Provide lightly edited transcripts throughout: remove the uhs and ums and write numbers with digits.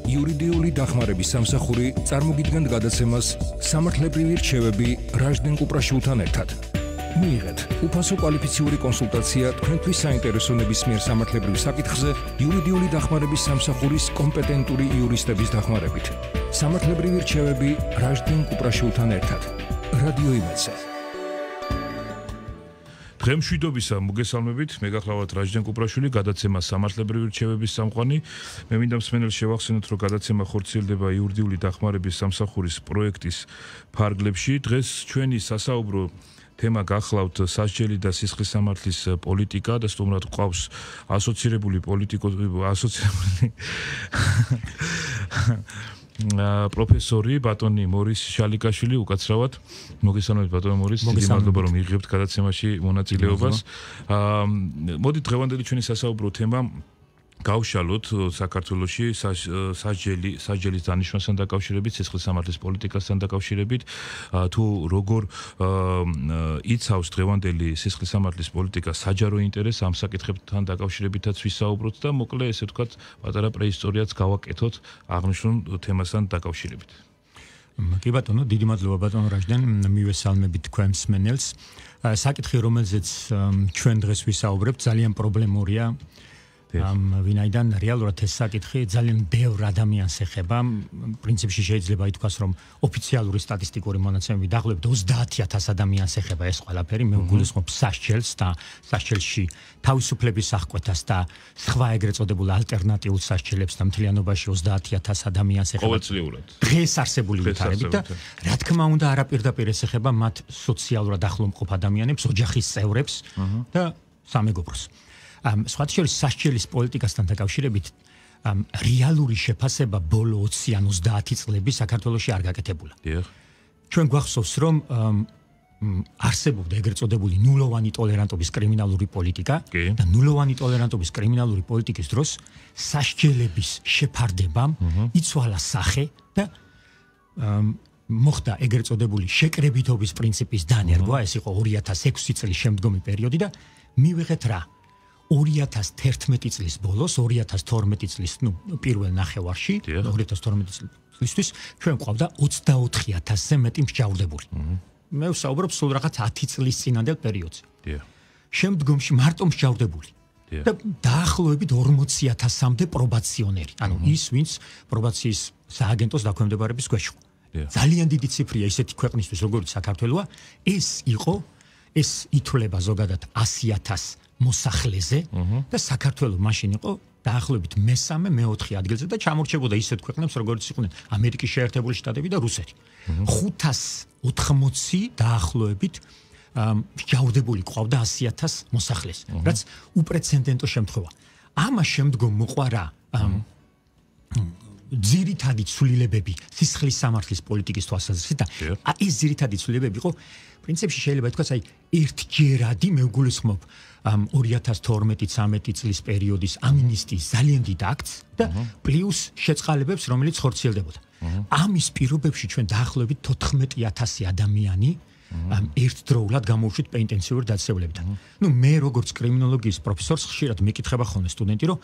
იურიდიული დახმარების სამსახური წარმოგიდგენთ გადაცემას სამართლებრივი რჩევები რაჟდენ კუპრაშვილთან ერთად. მიიღეთ უფასო კვალიფიციური კონსულტაცია თქვენთვის საინტერესო ნებისმიერ სამართლებრივ საკითხზე იურიდიული დახმარების სამსახურის კომპეტენტური იურისტების დახმარებით. სამართლებრივი რჩევები რაჟდენ კუპრაშვილთან ერთად. რადიო იმედზე. დღემშვიდობისა მოგესალმებით, მე გახლავართ რაჟდენ კუპრაშვილი, გადაცემა სამართლებრივი რჩევების სამყარო. მე მინდა მსმენელს შევახსენოთ, რომ გადაცემა ხორციელდება იურიდიული დახმარების სამსახურის პროექტის ფარგლებში. დღეს ჩვენი სასაუბრო თემა გახლავთ სასჯელი და სისხლის სამართლის პოლიტიკა და სტუმრად გვყავს ასოცირებული პროფესორი ბატონი მორის შალიკაშვილი, უკაცრავად მოგესალმებით ბატონი მორის, დიდი მადლობა რომ იღებთ გადაცემაში მონაწილეობას. მოდით დღევანდელი ჩვენი სასაუბრო თემა გავშალოთ საქართველოში სასჯელის დანიშვნასთან დაკავშირებით, სისხლის სამართლის პოლიტიკასთან დაკავშირებით, თუ როგორ იცავს დღევანდელი სისხლის სამართლის პოლიტიკა საჯარო ინტერესს ამ საკითხებთან დაკავშირებითაც ვისაუბროთ და მოკლე ესე ვთქვათ პატარა პრეისტორიაც გავაკეთოთ აღნიშნულ თემასთან დაკავშირებით. კი ბატონო, დიდი მადლობა ბატონო რაჟდენ, მივესალმებით თქვენ მსმენელს. საკითხი რომელზეც ჩვენ დღეს ვისაუბრებთ ძალიან პრობლემურია. ვინაიდან რეალურად ეს საკითხი ძალიან ბევრ ადამიანს ეხება. პრინციპში შეიძლება ითქვას, რომ ოფიციალური სტატისტიკური მონაცემები დაახლოებით 30,000 ადამიანს ეხება ეს ყველაფერი. მე ვგულისხმობ სასჯელს და სასჯელში თავისუფლების აღკვეთას და სხვა ეგრეთ წოდებულ ალტერნატიულ სასჯელებს და მთლიანობაში 30,000 ადამიანს ეხება. ყოველწლიურად. დღეს არსებული ვითარებით და რა თქმა უნდა არაპირდაპირ ეს ეხება მათ სოციალურად ახლომყოფ ადამიანებს, ოჯახის წევრებს და სამეგობროს. სხვათა შორის სასჯელის პოლიტიკასთან დაკავშირებით რეალური შეფასება ბოლო 20 ან 30 წლები საქართველოში არ გაკეთებულა. ჩვენ გვახსოვს, რომ არსებობდა ეგრეთ წოდებული ნულოვანი ტოლერანტობის კრიმინალური პოლიტიკა და ნულოვანი ტოლერანტობის კრიმინალური პოლიტიკის დროს სასჯელების შეფარდებამ იცვალა სახე და მოხდა ეგრეთ წოდებული შეკრებითობის პრინციპის დანერგვა, ეს იყო 2006 წლის შემდგომი პერიოდი და მივიღეთ რა 2011 წლის ბოლოს, 2012 წლის, პირველ ნახევარში, 2012 წლისთვის ჩვენ გვყავდა 24,000-ზე მეტი მსჯავრდებული. მე ვსაუბრობ სულ რაღაც 10 წლის წინანდელ პერიოდზე. შემდგომში მარტო მსჯავრდებული. და დაახლოებით 40,000-მდე პრობაციონერი, ანუ ის, ვინც პრობაციის სააგენტოს დაქვემდებარების ქვეშ იყო. ძალიან დიდი ციფრია ისეთი ქვეყნისთვის, როგორც საქართველოა, ეს ითვლება ზოგადად 100,000 მოსახლეზე და საქართველოს მაშინ იყო დაახლოებით მესამე, მეოთხე ადგილზე და ჩამორჩებოდა ისეთ ქვეყნებს, როგორც იყვნენ ამერიკის შეერთებული შტატები და რუსეთი. 580 დაახლოებით მსჯავრდებული ყავდა 100,000 მოსახლეს, რაც უპრეცედენტო შემთხვევა. ამას შემდგომ მოყვა ძირითადი ცვლილებები სისხლის სამართლის პოლიტიკის თვალსაზრისით და ეს ძირითადი ცვლილებები იყო პრინციპში შეიძლება ითქვას ერთჯერადი, მე ვგულისხმობ 2012-13 წლის პერიოდის ამინისტიის ძალიან დიდ აქტს და პლუს შეწყალებებს, რომელიც ხორციელდებოდა. ამის პირობებში ჩვენ დაახლოებით 14,000 ადამიანი ერთდროულად გამოვშვით პენიტენციური დაწესებულებიდან. მე როგორც კრიმინოლოგიის პროფესორს ხშირად მეკითხება ხოლმე სტუდენტი, რომ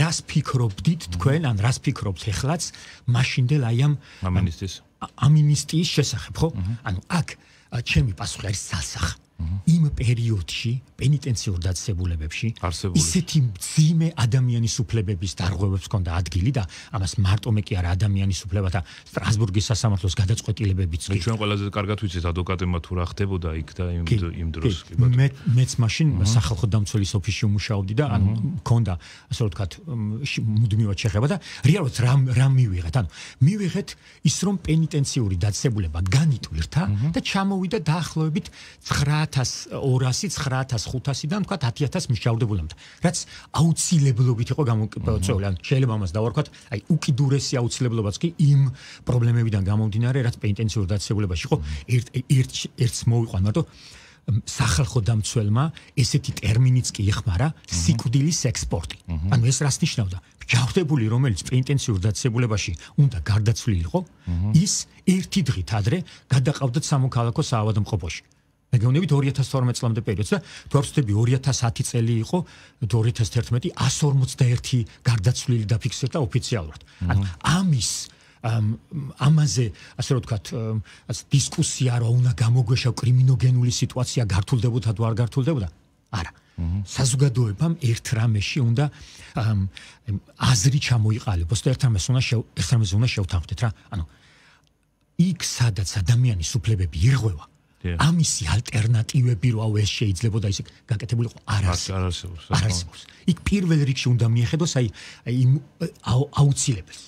რას ფიქრობდით თქვენ, ან რას ფიქრობთ ეხლაც მაშინდელ ამ ამინისტიის შესახებ, ხო? ანუ აქ ჩემი პასუხი არის სასახ. იმ პერიოდში პენიტენციურ დაწესებულებებში ისეთი მძიმე ადამიანის უფლებების დარღვევებს ჰქონდა ადგილი და ამას მარტო მე კი არა ადამიანის უფლებათა სტრასბურგის სასამართლოს გადაწყვეტილებებიც კი. ჩვენ ყველაზე კარგად ვიცით ადვოკატებმა თუ რა ხდებოდა იქ და იმ დროს. მეც მაშინ სახალხო დამცველის ოფისში ვმუშაობდი და ანუ მქონდა ასე ვთქვათ მუდმივად შეხება და რეალურად რა მივიღეთ? ანუ მივიღეთ ის რომ პენიტენციური დაწესებულება განიტვირთა და ჩამოვიდა დაახლოებით 9,200-9,500-დან თქვა 10,000 მსჯავრდებულამდე, რაც აუცილებლობით იყო გამოწვეული. ან შეიძლება ამას დავარქვათ, უკიდურესი აუცილებლობაც კი იმ პრობლემებიდან გამომდინარე, რაც პენიტენციურ დაწესებულებაში იყო, ერთს მოვიყვან მარტო სახალხო დამცველმა ესეთი ტერმინიც კი იხმარა სიკვდილის ექსპორტი. ანუ ეს რას ნიშნავდა? მსჯავრდებული, რომელიც პენიტენციურ დაწესებულებაში უნდა გარდაცვლილიყო, ის ერთი დღით ადრე გადაყავდათ სამოქალაქო საავადმყოფოში. მეგონებით 2012 წლამდე პერიოდს და თუ არ ვცდები 2010 წელი იყო 2011 141 გარდაცვლილი დაფიქსირდა ოფიციალურად. ანუ ამაზე ასე რომ ვთქვათ დისკუსია რა უნდა გამოგვეშავ კრიმინოგენული სიტუაცია გართულდებოდა თუ არ გართულდებოდა? არა. საზოგადოებამ ერთ რამეში უნდა აზრი ჩამოიყალიბოს და ერთ რამეს უნდა შევთანხმდეთ რა. ანუ იქ სადაც ადამიანის უფლებები ირღვევა ამისი ალტერნატივები რო ეს შეიძლებოდა ისე გაკეთებულიყო არ არსებობს. იქ პირველ რიგში უნდა მიეხედოს აი აუცილებელს.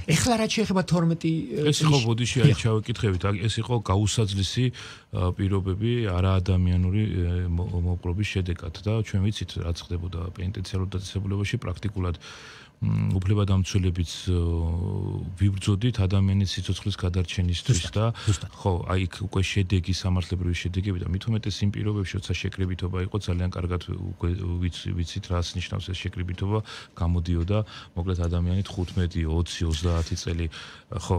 ეხლა რაც შეეხება 12 ეს იყო ბოდიში აი ჩავეკითხებით, ეს იყო გაუსაძლისი პირობები არაადამიანური მოპყრობის შედეგად და ჩვენ ვიცით რაც ხდებოდა პენიტენციარულ დაწესებულებაში პრაქტიკულად უფლებადამცველებიც ვიბრძოდით ადამიანის სიცოცხლის გადარჩენისთვის და ხო აი იქ უკვე შედეგი სამართლებრივი შედეგები და მით უმეტეს იმ პირობებში როცა შეკრებითობა იყო ძალიან კარგად ვიცით რას ნიშნავს ეს შეკრებითობა გამოდიოდა მოკლედ ადამიანი 15 20 30 წელი ხო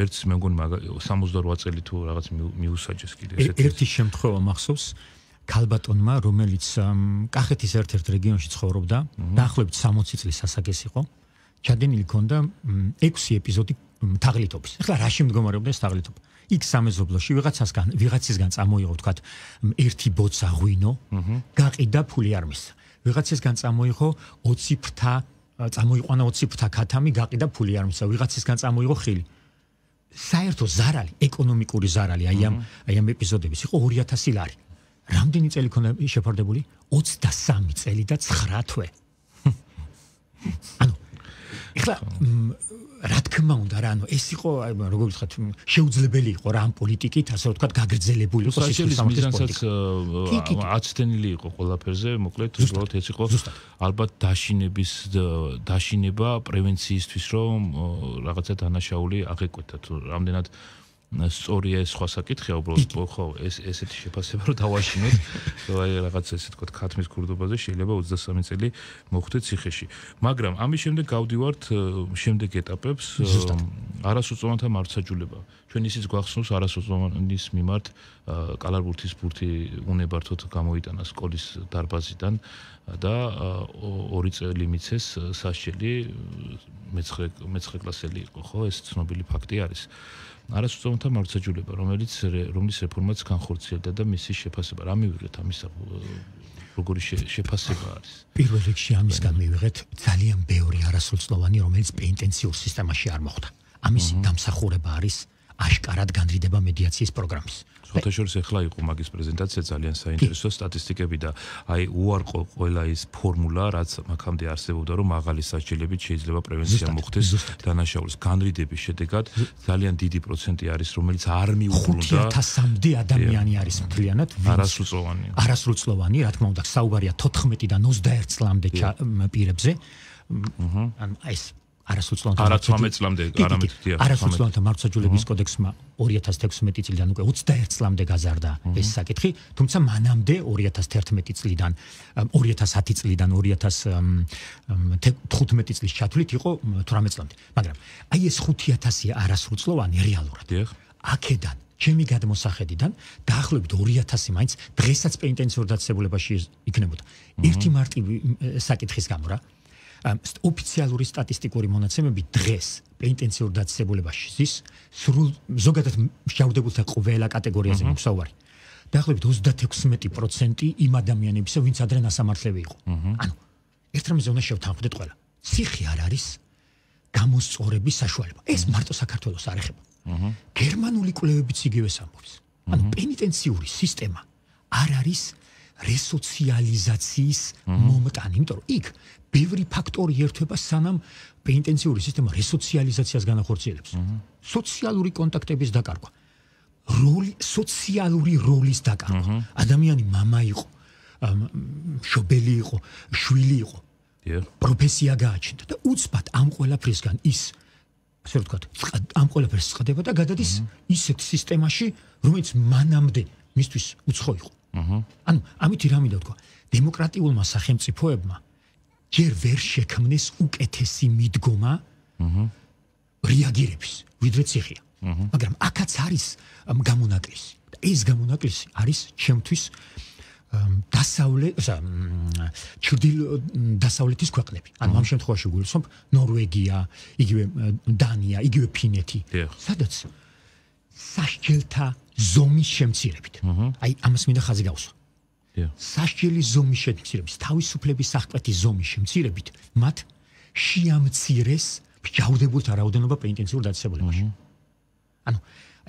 ერთს მე მგონი 68 წელი თუ რაღაც მიუსაჯეს კიდე ესეთი ერთი შემთხვევა მახსოვს ქალბატონმა, რომელიც კახეთის ერთ-ერთ რეგიონში ცხოვრობდა, დაახლოებით 60 წლის ასაკის იყო, ჩადენილი ჰქონდა 6 ეპიზოდი თაღლითობის. ეხლა რაში მდგომარეობდა ეს თაღლითობა? იქ სამეზობლოში ვიღაცისგან წამოიღო, ვთქვათ, ერთი ბოცა ღვინო, გაყიდა ფული არ მისცა. ვიღაცისგან წამოიღო 20 ფრთა, წამოიყვანა 20 ფრთა ქათამი, გაყიდა ფული არ მისცა. ვიღაცისგან წამოიღო ხილი. საერთო ზარალი, ეკონომიკური ზარალი აი ამ ეპიზოდების იყო 2000 ლარი. რამდენი წელი ქონდა შეფარდებული? 23 წელი და 9 თვე. ანუ ეხლა რა თქმა უნდა რა, ანუ ეს იყო როგორ ვთქვათ, შეუძლებელი იყო რა ამ პოლიტიკით, ასე ვთქვათ, გაგრძელებული იყო სოციალიზმის მიზანსაც აცდენილი იყო ყველაფერზე, მოკლედ უბრალოდ ეს იყო ალბათ დაშინება პრევენციისთვის, რომ რაღაცა დანაშაული აღეკვეთა თუ რამდენად სწორია ეს სხვა საკითხია უბრალოდ ხო ესეთი შეფასება რომ დავაშინოთ აი რაღაც ესე თქვა ქათმის ქურდობაზე შეიძლება 23 წელი მოხვდეთ ციხეში მაგრამ ამის შემდეგ გავდივართ შემდეგ ეტაპებს არასოწლოვანთა მართლმსაჯულება ჩვენ ისიც გვახსოვს არასოწლოვანის მიმართ კალარბურთის ბურთი უნებართოდ გამოიტანა სკოლის დარბაზიდან და 2 წელი მიცეს სასჯელი მე-9 კლასელი იყო ხო ეს ცნობილი ფაქტი არის არასოწლოვანთა მართლმსაჯულება, რომლის რეფორმაც განხორციელდა და მისი შეფასება. რა მივიღეთ ამისა როგორი შეფასება არის? პირველ რიგში ამისგან მივიღეთ ძალიან ბევრი არასოწლოვანი, რომელიც პენიტენციურ სისტემაში არ მოხვდა. ამისი დამსახურება არის აშკარად განრიდება მედიაციის პროგრამის. შეთაშორის ახლა იყო მაგის პრეზენტაცია ძალიან საინტერესო სტატისტიკები და აი უარყო ყველა ის ფორმულა რაც მაგამდე არსებობდა რომ მაღალი სასჯელებით შეიძლება პრევენცია მოხდეს დანაშაულის განრიდების შედეგად ძალიან დიდი პროცენტი არის რომელიც არ მიუბრუნდა 5000-მდე ადამიანი არის მთლიანად არასრულწლოვანი რა თქმა უნდა საუბარია 14-დან 21 წლამდე პირებზე ან ეს არასოწლოვანთა მართლმსაჯულების კოდექსმა 2016 წლიდან უკვე 21 წლამდე გაზარდა ეს საკითხი, თუმცა მანამდე 2011 წლიდან 2010 წლიდან 2015 წლის ჩათვლით იყო 18 წლამდე. მაგრამ აი ეს 5000 არასრულწლოვანი რეალურად აქედან ჩემი გადმოსახედიდან დაახლოებით 2000 მაინც დღესაც პენიტენციურ დაწესებულებაში იქნებოდა. ერთი მარტივი საკითხის გამო რა ოფიციალური სტატისტიკური მონაცემები დღეს პენიტენციურ დაწესებულებაში ზის სრულ ზოგადად მსჯავრდებულთა ყველა კატეგორიაზე მოსაუბარი. დაახლოებით 36% იმ ადამიანებისა, ვინც ადრე ნასამართლები იყო. ანუ ერთ რამეზე უნდა შევთანხმდეთ ყველა. ციხე არ არის გამოსწორების საშუალება. ეს მარტო საქართველოს არ ეხება. გერმანული კვლევებიც იგივეს ამბობს. ანუ პენიტენციური სისტემა არ არის რესოციალიზაციის მომტანი, იმიტომ რომ იქ ბევრი ფაქტორი ერთვება სანამ პენიტენციური სისტემა რესოციალიზაციას განახორციელებს. სოციალური კონტაქტების დაკარგვა, სოციალური როლის დაკარგვა. ადამიანი მამა იყო, მშობელი იყო, შვილი იყო. პროფესია გააჩნდა და უცბად ამ ყველაფრისგან ის ასე ვთქვათ, ამ ყველაფერს წყდება და გადადის ისეთ სისტემაში, რომელიც მანამდე მისთვის უცხო იყო. ანუ ამითი რა მინდა ვთქვა, დემოკრატიულმა სახელმწიფოებმა ჯერ ვერ შექმნეს უკეთესი მიდგომა რეაგირების, ვიდრე ციხეა. მაგრამ აქაც არის გამონაკლისი. ეს გამონაკლისი არის ჩემთვის დასავლეთის ქვეყნები. ანუ ამ შემთხვევაში გულისხმობ ნორვეგია, იგივე დანია, იგივე ფინეთი, სადაც სასჯელთა ზომის შემცირებით. აი ამას მინდა ხაზი გავუსვა. სასჯელი ზომის შემცირებით, თავისუფლების აღკვეთის ზომის შემცირებით, მათ შეამცირეს მსჯავრდებულთა რაოდენობა პენიტენციურ დაწესებულებაში. ანუ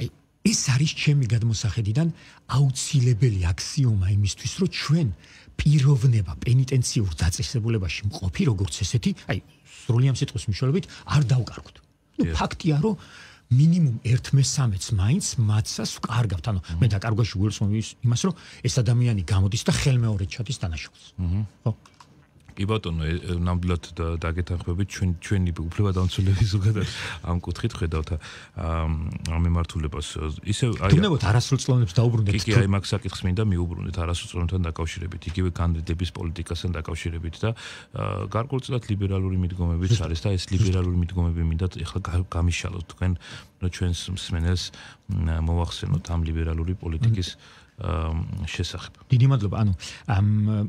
აი ეს არის ჩემი გადმოსახედიდან აუცილებელი აქსიომა იმისთვის, რომ ჩვენ პიროვნება პენიტენციურ დაწესებულებაში მყოფი როგორც ესეთი, აი სრული ამ სიტყვის მნიშვნელობით არ დავკარგოთ. ფაქტია, რომ მინიმუმ 1/3 მაინც მათსას ვკარგავთ. ანუ მე დაკარგვაში გულისხმობ იმას, რომ ეს ადამიანი გამოდის და ხელმეორედ ჩადის დანაშაულს. ხო? კი ბატონო, ნამდვილად დაგეთანხმებით ჩვენი უფლებადამცველები ზოგადად ამ კუთხით ხედავთ ამ მიმართულებას. ისევ აი თუნდაც არასრულწლოვნებს დაუბრუნდეთ. კი, აი მაგ საკითხს მინდა მიუბრუნდეთ არასრულწლოვნებთან დაკავშირებით, იგივე კანდიდატების პოლიტიკასთან დაკავშირებით და გარკვეულწილად ლიბერალური მიდგომებიც არის და ეს ლიბერალური მიდგომები მინდა ეხლა გამიშალოთ თქვენ, რომ ჩვენს მსმენელს მოვახსენოთ ამ ლიბერალური პოლიტიკის შესახებ. დიდი მადლობა. ანუ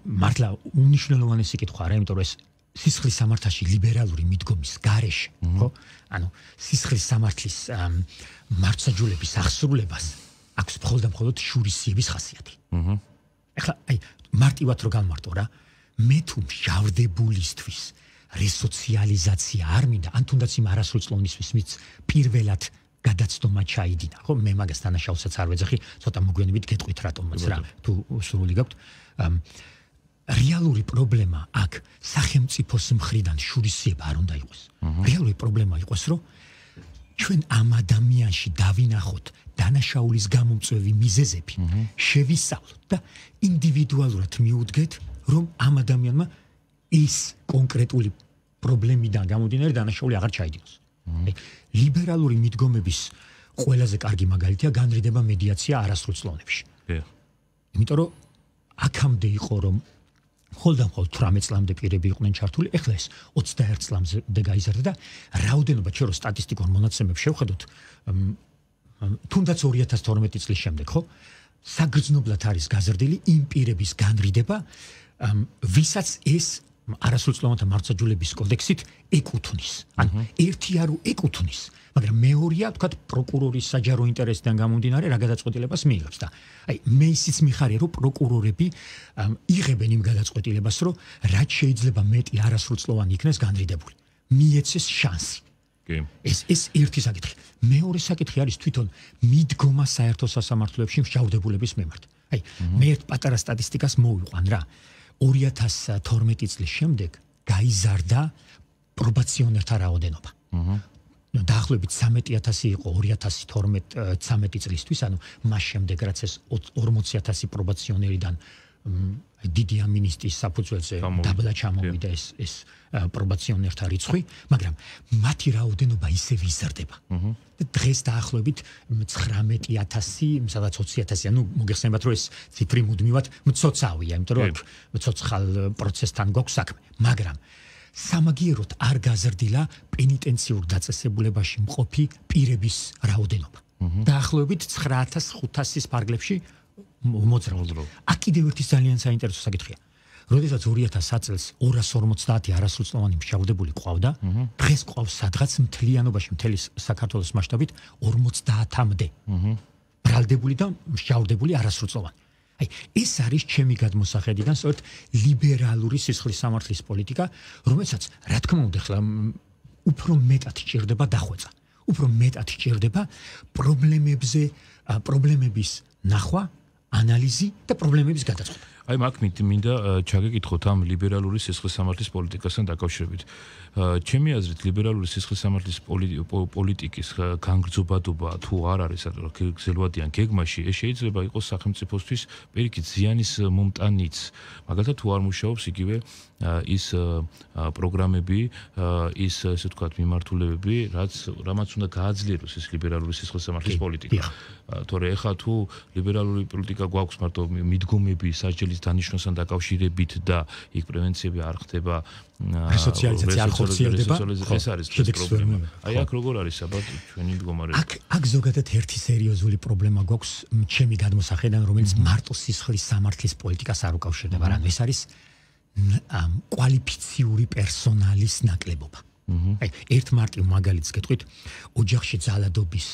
მართლა უნიშნელოვანესი კითხვა არა, იმიტომ რომ ეს სისხლის სამართალში ლიბერალური მიდგომის გარეშე, ხო? ანუ სისხლის სამართლის მართლმსაჯულების აღსრულებას აქვს მხოლოდ და მხოლოდ შურისძიების ხასიათი. ეხლა აი მარტივად რო განმარტო რა, მე თუ მსჯავრდებულისთვის რესოციალიზაცია არ მინდა, ან თუნდაც იმ არასრულწლოვნისთვის მის პირველად გადაცდომა ჩაიდინა, ხო? მე მაგას დანაშაულსაც არ ვეძახი, ცოტა მოგვიანებით გეტყვით რატომაც რა, თუ სრული გაქვთ. რეალური პრობლემა აქ სახელმწიფოს მხრიდან შურისძიება არ უნდა იყოს. რეალური პრობლემა იყოს, რომ ჩვენ ამ ადამიანში დავინახოთ დანაშაულის გამომწვევი მიზეზები, შევისწავლოთ და ინდივიდუალურად მიუდგეთ, რომ ამ ადამიანმა ის კონკრეტული პრობლემიდან გამომდინარე დანაშაული აღარ ჩაიდინოს. ლიბერალური მიდგომების ყველაზე კარგი მაგალითია განრიდება მედიაცია არასრულწლოვნებში. იმიტომ რომ აქამდე იყო რომ მხოლოდ 18 წლამდე პირები იყვნენ ჩართული, ეხლა ეს 21 წლამდე გაიზარდა და რაოდენობა ჩვენ რო სტატისტიკურ მონაცემებს შევხედოთ, თუნდაც 2012 წლის შემდეგ, ხო? საგრძნობლად არის გაზრდილი იმ პირების განრიდება, ვისაც ეს არასრულწლოვანთა მართლმსაჯულების კოდექსით ეკუთვნის. ანუ ერთი არ ეკუთვნის, მაგრამ მეორეა, თქვათ, პროკურორის საჯარო ინტერესიდან გამომდინარე რა გადაწყვეტილებას მიიღებს და აი მე ისიც მიხარია, რომ პროკურორები იღებენ იმ გადაწყვეტილებას, რომ რაც შეიძლება მეტი არასრულწლოვანი იქნეს განრიდებული. მიეცეს შანსი. ეს ერთი საკითხი. მეორე საკითხი არის თვითონ მიდგომა საერთო სასამართლოებში მსჯავრდებულების მიმართ. აი მე ერთ პატარა სტატისტიკას მოვიყვან რა. 2012 წლის შემდეგ გაიზარდა პრობაციონერთა რაოდენობა. დაახლოებით 13,000 იყო 2012-13 წლისთვის, ანუ მას შემდეგ რაც ეს 40,000 პრობაციონერიდან დიდი ამინისტიის საფუძველზე დაბლა ჩამოვიდა ეს პრობაციონერთა რიცხვი, მაგრამ მათი რაოდენობა ისევ იზრდება. დღეს დაახლოებით 19,000, სადაც 20,000, ანუ მოგეხსენებათ, რომ ეს ციფრი მუდმივად მცოცავია, იმიტომ რომ მცოცხალ პროცესთან გვაქვს საქმე, მაგრამ სამაგიეროდ არ გაზრდილა პენიტენციურ დაწესებულებაში მყოფი პირების რაოდენობა. დაახლოებით 9,500-ის ფარგლებში მოძრაობა. აქ კიდევ ერთი ძალიან საინტერესო საკითხია. როდესაც 2000 წელს 250 არასრულწლოვანი მსჯავრდებული ყავდა, დღეს ყავს სადღაც მთლიანობაში მთელი საქართველოს მასშტაბით 50-მდე. ბრალდებული და მსჯავრდებული არასრულწლოვანი. აი, ეს არის ჩემი გადმოსახედიდან სწორედ ლიბერალური სისხლის სამართლის პოლიტიკა, რომელსაც რა თქმა უნდა ხლა უფრო მეტად ჭირდება დახვეწა. უფრო მეტად ჭირდება პრობლემების ნახვა, ანალიზი და პრობლემების გადაწყვეტა. აი მაგ მინდა ჩაგეკითხოთ ამ ლიბერალური სისხლის სამართლის პოლიტიკასთან დაკავშირებით. ჩემი აზრით ლიბერალური სისხლის სამართლის პოლიტიკის განგრძობადობა თუ არ არის გრძელვადიან გეგმაში, ეს შეიძლება იყოს სახელმწიფოსთვის პირიქით ზიანის მომტანიც. მაგალითად თუ არ მუშაობს იგივე ის პროგრამები, ის ესე ვთქვათ მიმართულებები, რამაც უნდა გააძლიეროს ეს ლიბერალური სისხლის სამართლის პოლიტიკა. თორე ეხლა თუ ლიბერალური პოლიტიკა გვაქვს მარტო მიდგომები, სასჯელის სოციალიზმის დანიშნულთან დაკავშირებით და იქ პრევენციები არ ხდება რესოციალიზაცია არ ხორციელდება ეს არის ეს პრობლემა აი აქ როგორ არის საბათ ჩვენი მდგომარეობა აქ ზოგადად ერთი სერიოზული პრობლემა გვაქვს ჩემი გადმოსახედიდან რომელიც მარტო სისხლის სამართლის პოლიტიკას არ უკავშირდება რადგან ეს არის კვალიფიციური პერსონალის ნაკლებობა აი ერთ მარტივ მაგალითს გეტყვით ოჯახში ძალადობის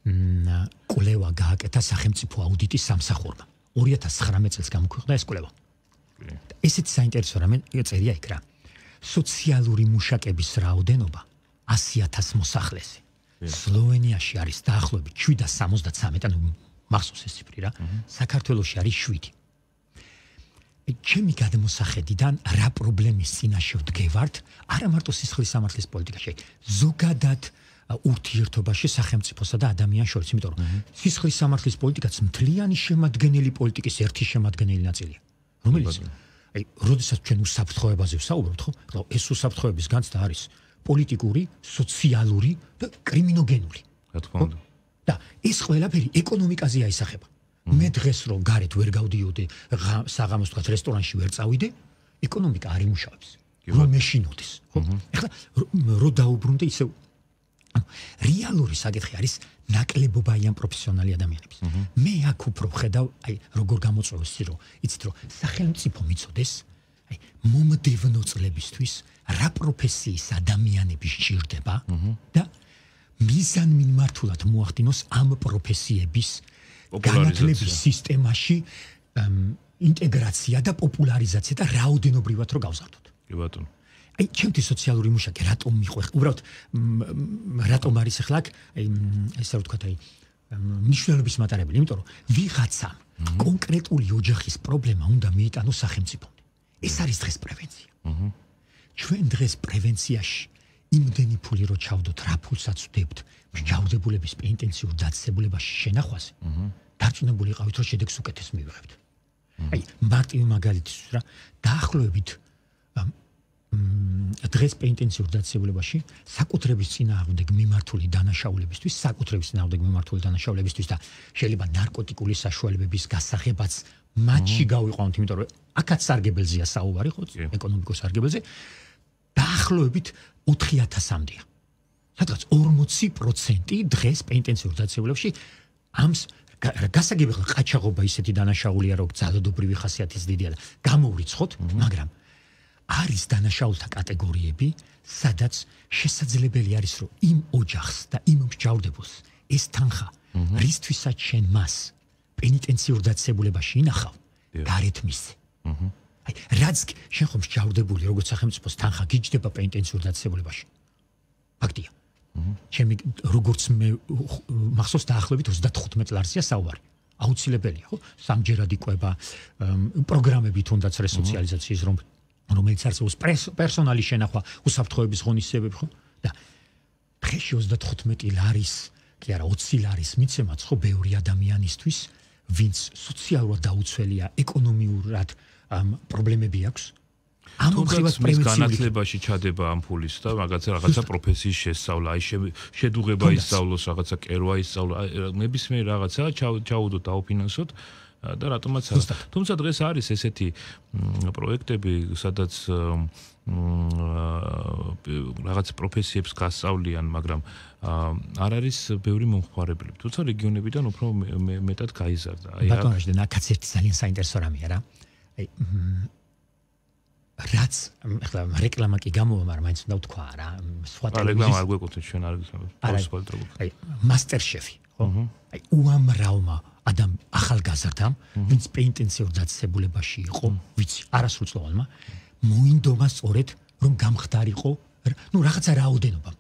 კვლევა გააკეთა სახელმწიფო აუდიტის სამსახურმა 2019 წელს გამოქვეყნდა ეს კვლევა ესეც საინტერესო რამე წერია იქ რა სოციალური მუშაკების რაოდენობა 100,000 მოსახლეზე სლოვენიაში არის დაახლოებით 773 ანუ მახსოვს ეს ციფრი რა საქართველოში არის 7 ჩემი გადმოსახედიდან რა პრობლემის წინაშე ვდგევართ არა მარტო სისხლის სამართლის პოლიტიკაში ზოგადად ურთიერთობაში სახელმწიფოსა და ადამიანს შორის იმიტომ რომ სისხლის სამართლის პოლიტიკაც მთლიანი შემადგენელი პოლიტიკის ერთი შემადგენელი ნაწილია რომელიც აი როდესაც ჩვენ უსაფრთხოებაზე ვსაუბრობთ ხო ეს უსაფრთხოების განცდა არის პოლიტიკური სოციალური და კრიმინოგენული რა თქმა უნდა და ეს ყველაფერი ეკონომიკაზე აისახება მე დღეს რომ გარეთ ვერ გავდიოდი საღამოს თქვა რესტორანში ვერ წავიდე ეკონომიკა არ იმუშავებს რომ მეშინოდეს ხო ეხლა რო დაუბრუნდე ისე რეალური საკითხი არის ნაკლებობა ან პროფესიონალი ადამიანების მე აქ უფრო ვხედავ აი როგორ გამოწვევს რომ იცით რომ სახელმწიფო მიწოდეს აი მომდევნო წლებისთვის რა პროფესიის ადამიანები სჭირდება და მიზანმიმართულად მოახდინოს ამ პროფესიების განათლების სისტემაში ინტეგრაცია და პოპულარიზაცია და რაოდენობრივად რო გავზარდოთ კი ბატონო აი ჩემთვის სოციალური მუშაკი რატომ მიყვეხ უბრალოდ რატომ არის ახლა აი ესე რომ ვთქვათ აი მნიშვნელობის მატარებელი იმიტომ რომ ვიღაცამ კონკრეტული ოჯახის პრობლემა უნდა მიიტანოს სახელმწიფომდე ეს არის დღეს პრევენცია ჩვენ დღეს პრევენციაში იმდენი ფული რო ჩავდოთ რა ფულსაც ვდებთ მსჯავრდებულების პენტენციურ დაწესებულებაში შენახვაზე დარწმუნებული იყავით რომ შედეგს უკეთეს მივიღებთ აი მარტივი მაგალითის რა დაახლოებით დღეს პენტენციურ დაწესებულებაში საკუთრების წინააღმდეგ მიმართული დანაშაულებისთვის და შეიძლება ნარკოტიკული საშუალებების გასაღებაც მათში გავიყვანოთ იმიტომ რომ აქაც სარგებელზეა საუბარი ხო ეკონომიკურ სარგებელზე დაახლოებით 4,000-მდეა სადღაც 40% დღეს პენტენციურ დაწესებულებაში ამს გასაგები ხა ყაჩაღობა ისეთი დანაშაულია რომ ძალადობრივი ხასიათის დიდია და გამოვრიცხოთ მაგრამ არის დანაშაულთა კატეგორიები სადაც შესაძლებელი არის რომ იმ ოჯახს და იმ მსჯავრდებულს ეს თანხა რისთვისაც შენ მას პენიტენციურ დაწესებულებაში ინახავ გარეთ მისცე აი რაც შენ ხომ მსჯავრდებული როგორც სახელმწიფოს თანხა გიჯდება პენიტენციურ დაწესებულებაში ფაქტია ჩემი როგორც მე მახსოვს დაახლოებით 35 ლარზია საუბარი აუცილებელია ხო სამჯერად იყვება პროგრამები თუნდაც რესოციალიზაციის რომელიც არსებობს პერსონალის შენახვა უსაფრთხოების ღონისძიებები ხო და დღეში 35 ლარის კი არა 20 ლარის მიცემაც ხო ბევრი ადამიანისთვის ვინც სოციალურად დაუცველია ეკონომიურად პრობლემები აქვს ამ მხრივაც პრევენციული განათლებაში ჩადება ამ ფულის და რაღაცა პროფესიის შესწავლა აი შედუღება ისწავლოს რაღაცა კერვა ისწავლა ნებისმიერ რაღაცა ჩაუდოთ დაუფინანსოთ და რატომაც არა თუმცა დღეს არის ესეთი პროექტები სადაც რაღაც პროფესიებს გასწავლიან მაგრამ არ არის ბევრი მომხმარებელი თუმცა რეგიონებიდან უფრო მეტად გაიზარდა აი ბატონო ნაკაც ერთი ძალიან საინტერესო რამეა რა აი რაც ახლა რეკლამა კი გამოვა მაგრამ მაინც უნდა ვთქვა რა სხვა რეკლამა არ გვეკუთვნის ჩვენ არ გისმენთ აი მასტერშეფი ხო აი უამრავმა ახალგაზრდამ ვინც პენტენციურ დაწესებულებაში იყო ვიცი არასრულწლოვანმა მოინდომა სწორედ რომ გამხდარიყო ნუ რაღაცა რაოდენობა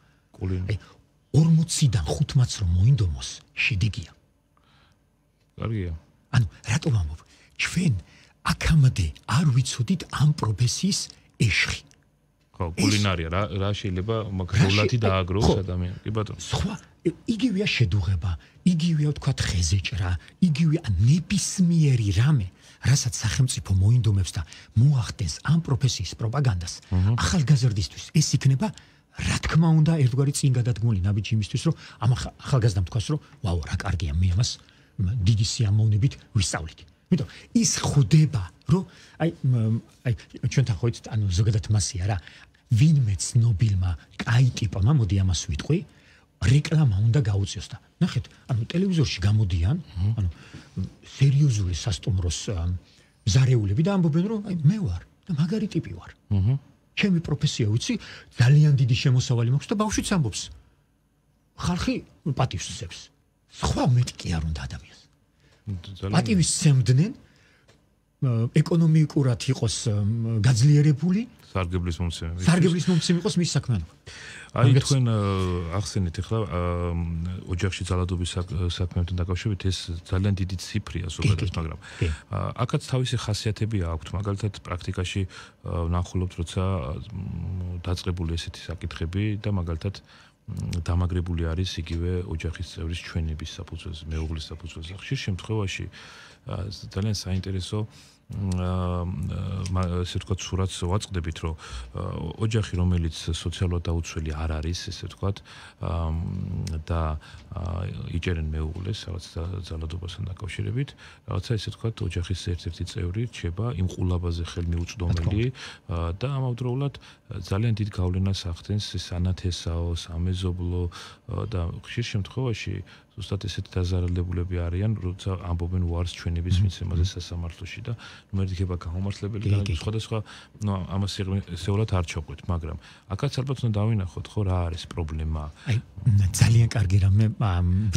აი 40-დან 5-მაც რომ მოინდომოს შედეგია კარგია ანუ რატომ ამბობ ჩვენ აქამდე არ ვიცოდით ამ პროფესიის ეშხი ხო კულინარია რა შეიძლება მაგალითად დააგროს ადამიანს კი ბატონო სხვა იგივეა შედუღება იგივეა თქვა ხეზეჭრა იგივეა ნებისმიერი რამე რასაც სახელმწიფო მოინდომებს და მოახდენს ამ პროფესიის პროპაგანდას ახალგაზრდისთვის ეს იქნება რა თქმა უნდა ერთგვარი წინ გადადგმული ნაბიჯი იმისთვის რომ ამ ახალგაზრდამ თქვას რომ ვაუ რა კარგია მე ამას დიდი სიამოვნებით ვისწავლით იმიტომ ის ხვდება, რომ აი ჩვენთან ხო იცით, ანუ ზოგადად მასია რა. ვინმე ცნობილმა კაი ტიპმა, მოდი ამას ვიტყვი, რეკლამა უნდა გაუწიოს და ნახეთ, ანუ ტელევიზორში გამოდიან, ანუ სერიოზული სასტუმროს მზარეულები და ამბობენ, რომ აი მე ვარ და მაგარი ტიპი ვარ. ჩემი პროფესია ვიცი, ძალიან დიდი შემოსავალი მაქვს და ბავშვიც ამბობს. ხალხი პატივს სცემს. სხვა მეტი კი არ უნდა ადამიანს. პატივის სცემდნენ ეკონომიკურად იყოს გაძლიერებული, სარგებლის მომცემი იყოს მის საქმიანობა. აი თქვენ ახსენეთ ახლა ოჯახში ძალადობის საქმეებთან დაკავშირებით ეს ძალიან დიდი ციფრია ზოგადად, მაგრამ აქაც თავისი ხასიათები აქვთ. მაგალითად პრაქტიკაში ვნახულობთ, როცა დაწყებული ესეთი საკითხები და მაგალითად დამაგრებული არის იგივე ოჯახის წევრის ჩვენების საფუძველზე, მეუღლის საფუძველზე. ხშირ შემთხვევაში ძალიან საინტერესო ესე ვთქვათ, სურათს ვაწყდებით, რომ ოჯახი, რომელიც სოციალურად დაუცველი არ არის, ესე ვთქვათ, და იჭერენ მეუღლეს, რაღაც ძალადობასთან დაკავშირებით, რაღაცა ესე ვთქვათ, ოჯახის ერთ-ერთი წევრი რჩება იმ ყულაბაზე ხელმიუწვდომელი და ამავდროულად ძალიან დიდ გავლენას ახდენს სანათესაო, სამეზობლო და ხშირ შემთხვევაში ზუსტად ესეთი დაზარალებულები არიან, როცა ამბობენ ვარს ჩვენების მიცემაზე სასამართლოში და მერდიქება გამომართლებელი განაცხადა სხვადასხვა, ამას ისეულად არ ჩაყვეთ, მაგრამ აქაც ალბათ უნდა დავინახოთ, ხო, რა არის პრობლემა. აი, ძალიან კარგი რამე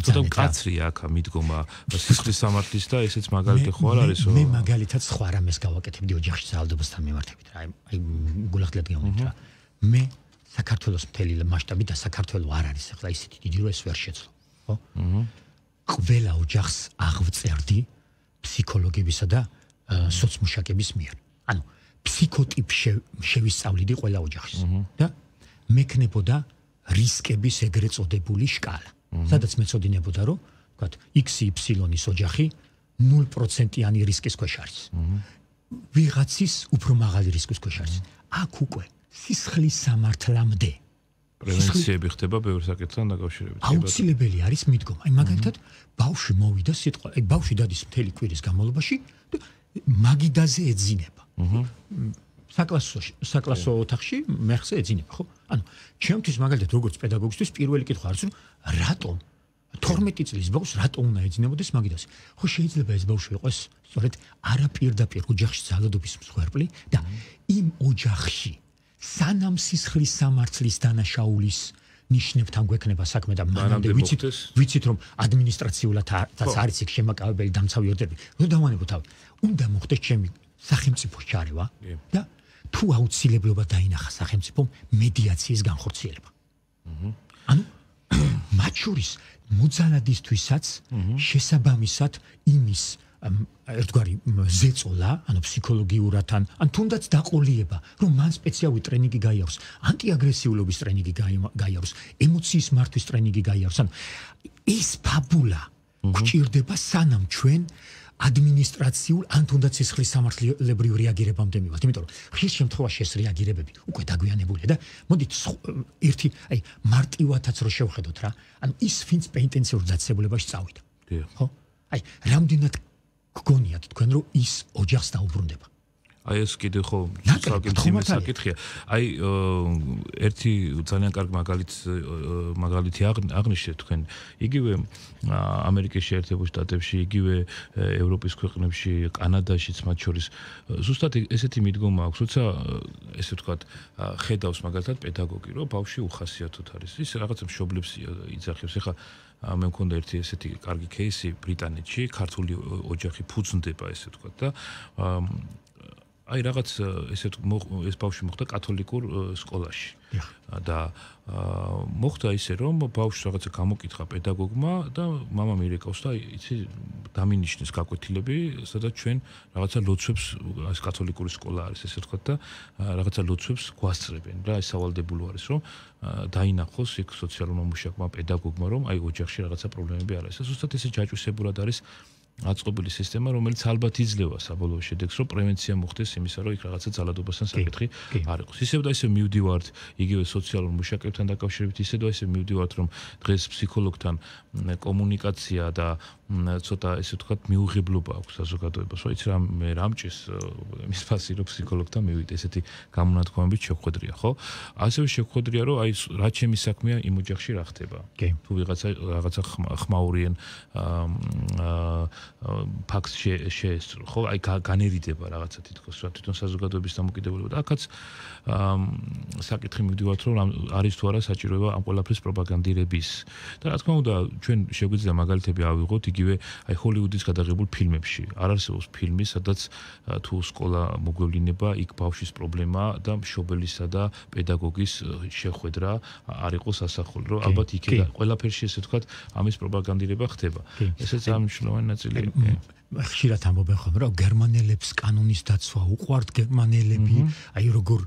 ცოტა მკაცრია აქ მიდგომა სისხლის სამართლის და ესეც მაგალითი ხო არ არის? მე მაგალითად სხვა რამეს გავაკეთებდი ოჯახში ძალადობასთან მიმართებით რა. აი, გულახდილად გამოვიდა რა. მე საქართველოს მთელი მასშტაბი და საქართველო არ არის ახლა ისეთი დიდი რომ ეს ვერ შეძლო. ყველა ოჯახს აღვწერდი ფსიქოლოგებისა და სოციმუშაკების მიერ. ანუ ფსიქოტიპ შევისწავლიდი ყველა ოჯახის და მექნებოდა რისკების ეგრეთ წოდებული შკალა. სადაც მეწოდინებოდა, რომ ვთქვათ, XY-ის ოჯახი 0%-იანი რისკის ქვეშ არის. ვიღაცის უფრო მაღალი რისკის ქვეშ არის. აქ უკვე სისხლის სამართლამდე პრევენციები ხდება ბევრ საკითხთან დაკავშირებით. აუცილებელი არის მიდგომა. აი მაგალითად, ბავშვი მოვიდა სიტყვა, აი ბავშვი დადის მთელი კვირის განმავლობაში და მაგიდაზე ეძინება. საკლასო ოთახში მეხზე ეძინება, ხო? ანუ ჩემთვის მაგალითად როგორც პედაგოგისთვის პირველი კითხვა არის, რომ რატომ 12 წლის ბავშვს რატომ უნდა ეძინებოდეს მაგიდაზე? ხო შეიძლება ეს ბავშვი იყოს სწორედ არაპირდაპირ ოჯახში ძალადობის მსხვერპლი და იმ ოჯახში სანამ სისხლის სამართლის დანაშაულის ნიშნებთან გვექნება საქმე და მანამდე ვიცით რომ ადმინისტრაციულადაც არის იქ შემაკავებელი დამცავი ორდერები. რომ დავანებო თავი. უნდა მოხდეს ჩემი სახელმწიფოს ჩარევა და თუ აუცილებლობა დაინახა სახელმწიფომ მედიაციის განხორციელება. ანუ მათ შორის მოძალადისთვისაც შესაბამისად იმის ერთგვარი ზეწოლა, ანუ ფსიქოლოგიურად ან თუნდაც დაყოლიება, რომ მან სპეციალური ტრენინგი გაიაროს, ანტიაგრესიულობის ტრენინგი გაიაროს, ემოციის მართვის ტრენინგი გაიაროს. ანუ ეს ფაბულა გვჭირდება სანამ ჩვენ ადმინისტრაციულ ან თუნდაც სისხლის სამართლებრივ რეაგირებამდე მივართ. იმიტომ რომ ხშირ შემთხვევაში ეს რეაგირებები უკვე დაგვიანებულია და მოდით ერთი აი მარტივადაც რო შევხედოთ რა. ანუ ის ვინც პენიტენციურ დაწესებულებაში წავიდა. ხო? აი რამდენად გგონიათ თქვენ რომ ის ოჯახს დაუბრუნდება. აი ეს კიდე ხო საკითხია. აი ერთი ძალიან კარგი მაგალითი აღნიშნეთ თქვენ. იგივე ამერიკის შეერთებულ შტატებში, იგივე ევროპის ქვეყნებში, კანადაშიც მათ შორის ზუსტად ესეთი მიდგომა აქვს, როცა ესე ვთქვათ, ხედავს მაგალითად პედაგოგი, რომ ბავშვი უხასიათოდ არის. ის რაღაცა მშობლებს იძახებს. ეხლა მე მქონდა ერთი ესეთი კარგი кейსი ბრიტანეთში, ქართული ოჯახი ფუძნდება ესე ვთქვათ და აი რაღაც ეს ბავშვი მოხდა კათოლიკურ სკოლაში და მოხდა ისე რომ ბავშვს რაღაცა გამოკითხა პედაგოგმა და მამა მირეკავს და იცი დამინიშნეს გაკვეთილები, სადაც ჩვენ რაღაცა ლოცვებს ეს კათოლიკური სკოლა არის ესე ვთქვათ და რაღაცა ლოცვებს გვასწრებენ რა, ეს სავალდებულო არის რომ დაინახოს იქ სოციალურმა მუშაკმა პედაგოგმა რომ აი ოჯახში რაღაცა პრობლემები არ არის. ზუსტად ესე ჯაჭვისებურად არის აწყობილი სისტემა, რომელიც ალბათ იძლევა საბოლოო შედეგს, რომ პრევენცია მოხდეს იმისა, რომ იქ რაღაცა ძალადობასთან საკითხი არ იყოს. ისევ და ისევ მივდივართ იგივე სოციალურ მუშაკებთან დაკავშირებით, ისევ და ისევ მივდივართ, რომ დღეს ფსიქოლოგთან კომუნიკაცია და ცოტა ესე ვთქვათ მიუღებლობა აქვს საზოგადოებას. რა იცი მე რამჭის იმის ფასი რომ ფსიქოლოგთან მივიდე, ესეთი გამონათქვამებით შეხვედრია, ხო? ასევე შეხვედრია, რომ აი რა ჩემი საქმეა იმ ოჯახში რა ხდება. თუ რაღაცა ხმაურიან ფაქტს შეესწრო, ხო? აი განერიდება რაღაცა თითქოს რა თვითონ საზოგადოების დამოკიდებულება და აქაც საკითხი მივდივართ, რომ არის თუ არა საჭიროება ამ ყველაფრის პროპაგანდირების. და რა თქმა უნდა, ჩვენ შეგვიძლია მაგალითები ავიღოთ იგივე აი ჰოლივუდის გადაღებულ ფილმებში. არ არსებობს ფილმი, სადაც თუ სკოლა მოგვევლინება, იქ ბავშვის პრობლემა და მშობელისა და პედაგოგის შეხვედრა არ იყოს ასახული, რომ ალბათ იქ ყველაფერში ესე ვთქვათ, ამის პროპაგანდირება ხდება. ესეც ამ მნიშვნელოვანი ნაწილია. ხშირად ამბობენ ხოლმე, რომ გერმანელებს კანონის დაცვა უყვართ, გერმანელები, აი როგორ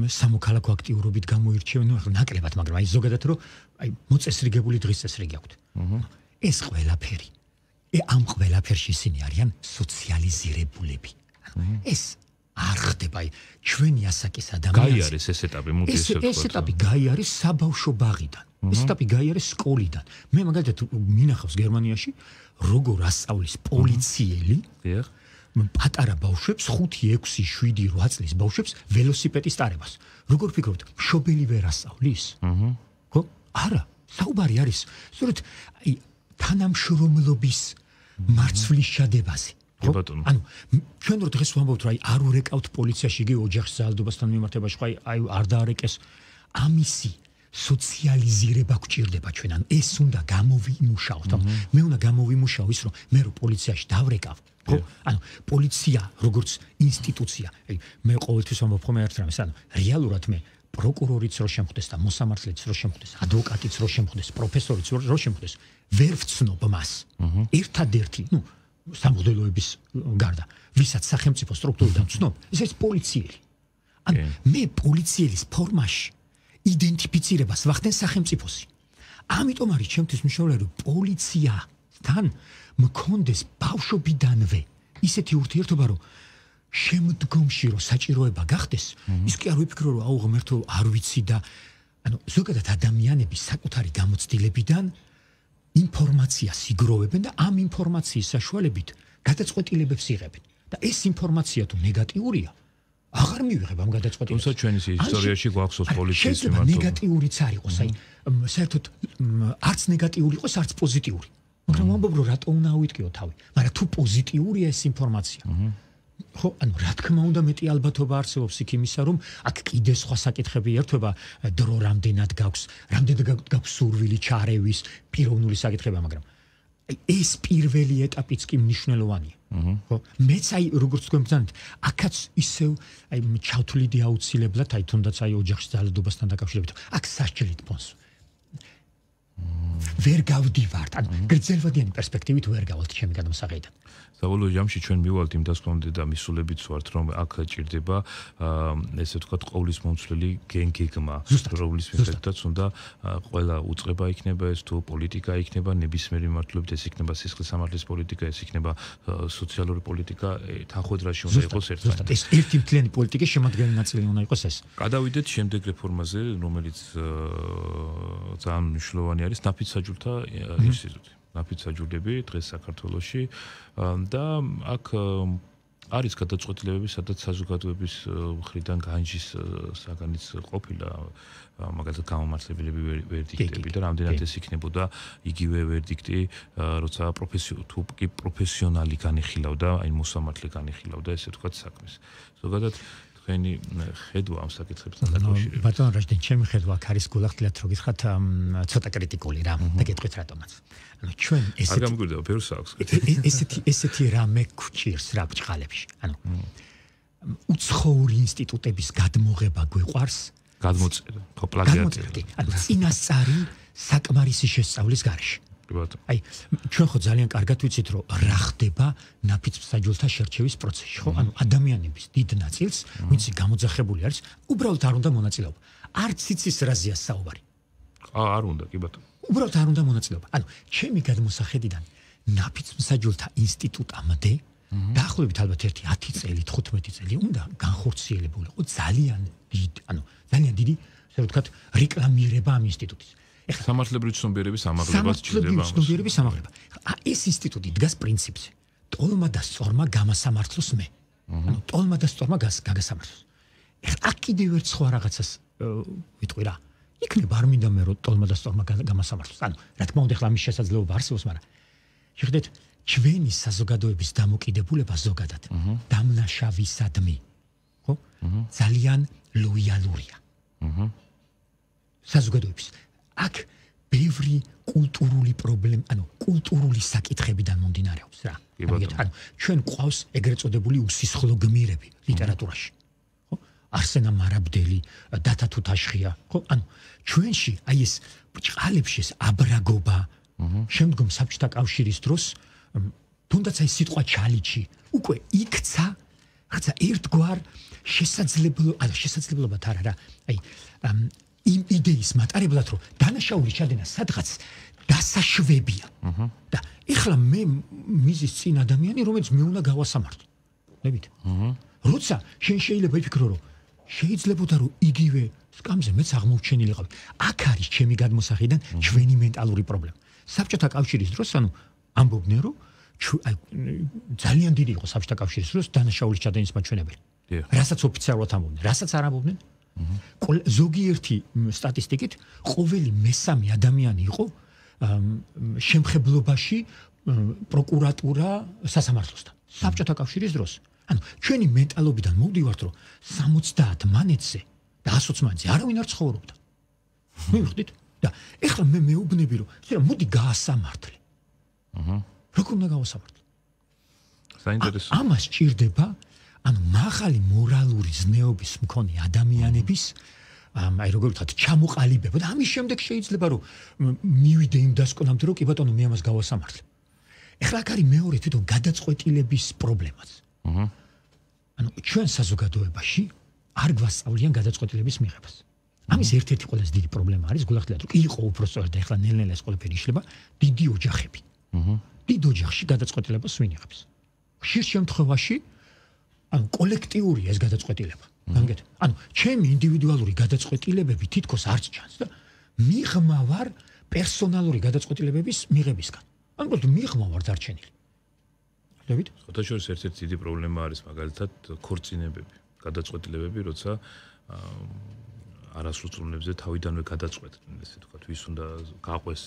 სამოქალაქო აქტიურობით გამოირჩევენ, ახლა ნაკლებად, მაგრამ აი ზოგადად რომ აი მოწესრიგებული დღის წესრიგი აქვთ. ეს ყველაფერი. ამ ყველაფერში ისინი არიან სოციალიზირებულები. ეს არ ხდება, აი ჩვენი ასაკის ადამიანს. გაიარეს ეს ეტაპი, მოდი ესე ვთქვათ. ეს ეტაპი გაიარეს საბავშვო ბაღიდან. ეს ეტაპი გაიარეს სკოლიდან. მე მაგალითად მინახავს გერმანიაში როგორ ასწავლის პოლიციელი პატარა ბავშვებს 5, 6, 7, 8 წლის ბავშვებს ველოსიპედის ტარებას. როგორ ფიქრობთ, მშობელი ვერ ასწავლის? ხო? არა, საუბარი არის სწორედ აი თანამშრომლობის მარცვლის შადებაზე. ანუ ჩვენ რო დღეს ვამბობთ, რომ აი არ ურეკავთ პოლიციაში იგივე ოჯახის ძალადობასთან მიმართებაში, ხო აი არ დაარეკეს ამისი სოციალიზირება გვჭირდება ჩვენ, ანუ ეს უნდა გამოვიმუშაოთ. მე უნდა გამოვიმუშაო ის, რომ მე რო პოლიციაში დავრეკავ, ხო? ანუ პოლიცია როგორც ინსტიტუცია, მე ყოველთვის ვამბობ ხოლმე ერთ რამეს, ანუ რეალურად მე პროკურორიც რო შემხვდეს და მოსამართლეც რო შემხვდეს, ადვოკატიც რო შემხვდეს, პროფესორიც რო შემხვდეს, ვერ ვცნობ მას. ერთადერთი, სამღვდელოების გარდა, ვისაც სახელმწიფო სტრუქტურიდან ვცნობ, ეს არის პოლიციელი. ანუ მე პოლიცielis ფორმაში იდენტიფიცირებას ვახდენ სახელმწიფოსი. ამიტომ არის ჩემთვის მნიშვნელოვანი, რომ პოლიციასთან მქონდეს ბავშვობიდანვე ისეთი ურთიერთობა, რომ შემდგომში რომ საჭიროება გახდეს, ის კი არ ვიფიქრო, რომ აუ ღმერთო არ ვიცი და ანუ ზოგადად ადამიანები საკუთარი გამოცდილებიდან ინფორმაციას იგროვებენ და ამ ინფორმაციის საშუალებით გადაწყვეტილებებს იღებენ. და ეს ინფორმაცია თუ ნეგატიურია, აღარ მივიღებ ამ გადაწყვეტილებას. თუმცა ჩვენი ისტორიაში გვახსოვს პოლიციის მიმართ. ნეგატიურიც არ იყოს, აი საერთოდ არც ნეგატიური იყოს, არც პოზიტიური. მაგრამ ვამბობ, რომ რატო უნდა ავიტკიო თავი? მაგრამ თუ პოზიტიურია ეს ინფორმაცია. ხო, ანუ რა თქმა უნდა მეტი ალბათობა არსებობს იქ იმისა, რომ აქ კიდე სხვა საკითხები ერთვება, დრო რამდენად გაქვს, რამდენად გაქვს სურვილი ჩარევის, პიროვნული საკითხება, მაგრამ ეს პირველი ეტაპიც კი მნიშვნელოვანია. ხო, მეც აი როგორც თქვენ ბრძანეთ, აქაც ისევ აი ჩავთვლიდი აუცილებლად, აი თუნდაც აი ოჯახის ძალადობასთან დაკავშირებით, აქ სასჯელით პონს. ვერ გავდივართ, ანუ გრძელვადიანი პერსპექტივით ვერ გავალთ ჩემი გადამსაღებიდან. საბოლოო ჯამში ჩვენ მივალთ იმ დასკვნამდე და მისულებიც ვართ, რომ აქ ჭირდება ესე ვთქვათ ყოვლის მომცვლელი გეგმა, რომლის მიხედვითაც უნდა ყველა უწყება იქნება ეს თუ პოლიტიკა იქნება, ნებისმიერი მიმართულებით ეს იქნება სისხლის სამართლის პოლიტიკა, ეს იქნება სოციალური პოლიტიკა, თანხმდრაში უნდა იყოს ერთმანეთი. ეს ერთი მთლიანი პოლიტიკის შემადგენელი ნაწილი უნდა იყოს ეს. გადავიდეთ შემდეგ რეფორმაზე, რომელიც ძალიან მნიშვნელოვანი არის ნაფიც საჯულთა ინსტიტუტი. ნაფიც საჯულები დღეს საქართველოში და აქ არის გადაწყვეტილებები, სადაც საზოგადოების მხრიდან განჯის საგანიც ყოფილა, მაგალითად გამომართლებელები ვერდიქტები და რამდენად ეს იქნებოდა იგივე ვერდიქტი, როცა პროფესიონალი განიხილავდა, აი მოსამართლე განიხილავდა, ესე ვთქვათ საქმეს. ზოგადად თქვენი ხედვა ამ საკითხებთან დაკავშირებით. ბატონ რაჟდენ, ჩემი ხედვა აქ არის გულახდილად რო გითხრათ ცოტა კრიტიკული რა და გეტყვით რატომაც. ანუ ჩვენ ესეთი არ გამგვირდება ბევრს აქვს. ესეთი რამე გვჭირს რა ბჭყალებში. ანუ უცხოური ინსტიტუტების გადმოღება გვიყვარს, გადმოწერა, ხო პლაგიატი. ანუ წინასწარი საკმარისი შესწავლის გარეშე. აი, ჩვენ ხო ძალიან კარგად ვიცით, რომ რა ხდება ნაფიც საჯულთა შერჩევის პროცესში, ხო? ანუ ადამიანების დიდ ნაწილს, ვინც გამოძახებული არის, უბრალოდ არ უნდა მონაწილეობა. არც იცის რაზეა საუბარი. არ უნდა, კი ბატონო. უბრალოდ არ უნდა მონაწილეობა. ანუ ჩემი გადმოსახედიდან ნაფიცმსაჯულთა ინსტიტუტამდე დაახლოებით ალბათ 10 წელი, 15 წელი უნდა განხორციელებულიყო ძალიან დიდი, ასე ვთქვათ, რეკლამირება ამ ინსტიტუტის. ეხლა სამართლებრივი ცნობიერების ამაღლებას ჭირდება. ცნობიერების ამაღლება. ეს ინსტიტუტი დგას პრინციპზე. ტოლმა და სწორმა გამასამართლოს მე. ტოლმა და სწორმა გაგასამართლოს. ეხლა აქ კიდევ ერთ სხვა რაღაცას ვიტყვი რა. იქნება არ მინდა მე რომ ტოლმა და სწორმა გამასამართლოს. რა თქმა უნდა, ეხლა ამის შესაძლებლობა არსებობს, მაგრამ შეხედეთ, ჩვენი საზოგადოების დამოკიდებულება ზოგადად დამნაშავისადმი, ხო? ძალიან ლოიალურია. საზოგადოების აქ ბევრი კულტურული პრობლემა, კულტურული საკითხებიდან მომდინარეობს რა. ჩვენ ყავს ეგრეთ წოდებული უსისხლო გმირები ლიტერატურაში. ხო? არსენა მარაბდელი, დათა თუთაშხია, ხო? ჩვენში აი ეს ბრჭყალებში ეს აბრაგობა, შემდგომ საბჭოთა კავშირის დროს თუნდაც აი სიტყვა ჩალიჩი უკვე იქცა რაღაცა ერთგვარ შესაძლებლობათ არა რა. აი იმ იდეის მატარებლად რომ დანაშაული ჩადენა სადღაც დასაშვებია. და ეხლა მე მიზის წინ ადამიანი რომელიც მე უნდა გავასამართლო. ნებით? როცა შენ შეიძლება იფიქრო რომ შეიძლებოდა რომ იგივე სკამზე მეც აღმოჩენილიყავი. აქ არის ჩემი გადმოსახედიდან ჩვენი მენტალური პრობლემა. საბჭოთა კავშირის დროს ამბობდნენ რომ ძალიან დიდი იყო საბჭოთა კავშირის დროს დანაშაულის ჩადენის მაჩვენებელი. რასაც ოფიციალურად ამბობდნენ, რასაც არ ამბობდნენ. ზოგიერთი სტატისტიკით ყოველი მესამე ადამიანი იყო შემხებლობაში პროკურატურა სასამართლოსთან. საბჭოთა კავშირის დროს. ჩვენი მენტალობიდან მოვდივართ რომ 70 მანეთზე და 120 მანეთზე არავინ არ ცხოვრობდა. მივხვდით? და ეხლა მე მეუბნები რომ მოდი გაასამართლე. როგორ უნდა გავასამართლე? საინტერესო. ამას ჭირდება მაღალი მორალური ზნეობის მქონე ადამიანების აი როგორ ვთქვათ ჩამოყალიბება და ამის შემდეგ შეიძლება რომ მივიდე იმ დასკვნამდე რომ კი ბატონო მე ამას გავასამართლე. ეხლა აქ არის მეორე თვითონ გადაწყვეტილების პრობლემაც. ჩვენ საზოგადოებაში არ გვასწავლიან გადაწყვეტილების მიღებას. ამის ერთ-ერთი ყველაზე დიდი პრობლემა არის გულახდილად რომ იყო უბრალოდ და ეხლა ნელ-ნელა ეს ყველაფერი იშლება დიდი ოჯახები. დიდ ოჯახში გადაწყვეტილებას ვინ იღებს? ხშირ შემთხვევაში კოლექტიურია ეს გადაწყვეტილება. გამიგეთ? ჩემი ინდივიდუალური გადაწყვეტილებები თითქოს არც ჩანს და მიღმა ვარ პერსონალური გადაწყვეტილებების მიღებისგან. უბრალოდ მიღმა ვარ დარჩენილი. ხვდებით? ხოთა შორის ერთ-ერთი დიდი პრობლემა არის მაგალითად ქორწინებები, გადაწყვეტილებები, როცა არასრულწლოვნებზე თავიდანვე გადაწყვეტდნენ, ესე ვთქვათ, ვის უნდა გაყვეს,